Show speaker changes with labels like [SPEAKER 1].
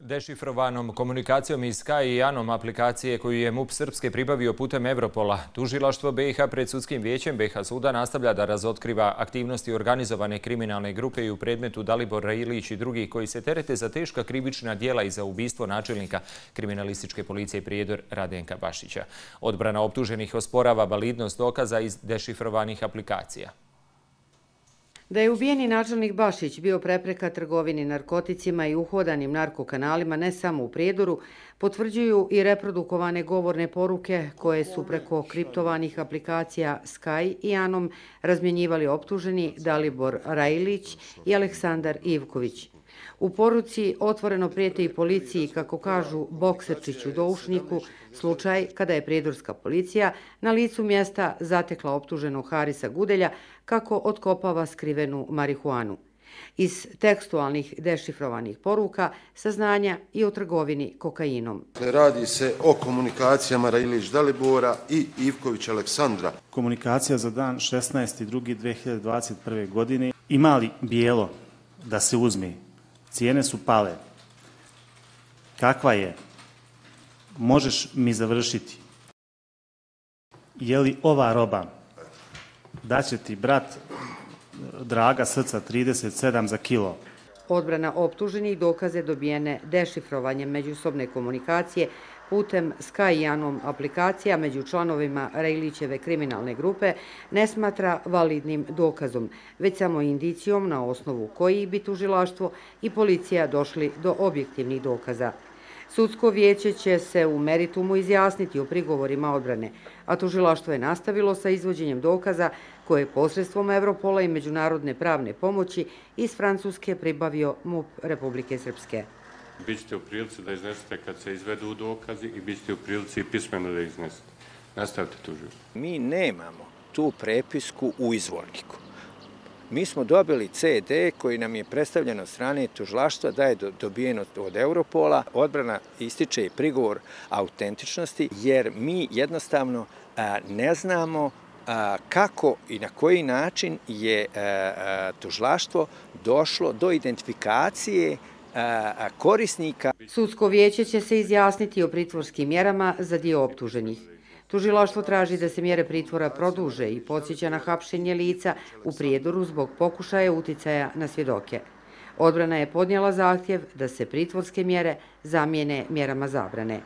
[SPEAKER 1] Dešifrovanom komunikacijom iz Sky i Anom aplikacije koju je MUP Srpske pribavio putem Evropola, tužilaštvo BiH pred sudskim vijećem BiH suda nastavlja da razotkriva aktivnosti organizovane kriminalne grupe i u predmetu Dalibor Railić i drugi koji se terete za teška krivična djela i za ubistvo načelnika kriminalističke policije Prijedor Radenka Bašića. Odbrana optuženih osporava validnost dokaza iz dešifrovanih aplikacija.
[SPEAKER 2] Da je ubijeni načelnik Bašić bio prepreka trgovini narkoticima i uhodanim narkokanalima ne samo u Prijedoru, potvrđuju i reprodukovane govorne poruke koje su preko kriptovanih aplikacija Sky i Anom razmjenjivali optuženi Dalibor Railić i Aleksandar Ivković. U poruci otvoreno prijete i policiji, kako kažu Bokserčiću Doušniku, slučaj kada je prijedorska policija na licu mjesta zatekla optuženog Harisa Gudelja kako otkopava skrivenu marihuanu. Iz tekstualnih dešifrovanih poruka saznanja i o trgovini kokainom.
[SPEAKER 3] Radi se o komunikacijama Railić Dalibora i Ivković Aleksandra.
[SPEAKER 4] Komunikacija za dan 16.2.2021. godine. Ima li bijelo da se uzme? Cijene su pale. Kakva je? Možeš mi završiti? Je li ova roba? Daće ti brat draga srca 37 za kilo.
[SPEAKER 2] Odbrana optuženih dokaze dobijene dešifrovanjem međusobne komunikacije putem Sky i Anom aplikacija među članovima Railićeve kriminalne grupe ne smatra validnim dokazom, već samo indicijom na osnovu kojih bi tužilaštvo i policija došli do objektivnih dokaza. Sudsko vijeće će se u meritumu izjasniti o prigovorima odbrane, a tužilaštvo je nastavilo sa izvođenjem dokaza koje je posredstvom Evropola i međunarodne pravne pomoći iz Francuske pribavio MUP Republike Srpske.
[SPEAKER 5] Bićete u prilici da iznesete kad se izvedu dokazi i bićete u prilici i pismeno da iznesete. Nastavite tužiti.
[SPEAKER 6] Mi nemamo tu prepisku u izvorniku. Mi smo dobili CD koji nam je predstavljen od strane tužilaštva da je dobijen od Evropola. Odbrana ističe prigovor autentičnosti jer mi jednostavno ne znamo kako i na koji način je tužilaštvo došlo do identifikacije korisnika.
[SPEAKER 2] Sudsko vijeće će se izjasniti o pritvorskim mjerama za dio optuženih. Tužilaštvo traži da se mjere pritvora produže i podsjeća na hapšenje lica u Prijedoru zbog pokušaja uticaja na svjedoke. Odbrana je podnijela zahtjev da se pritvorske mjere zamijene mjerama zabrane.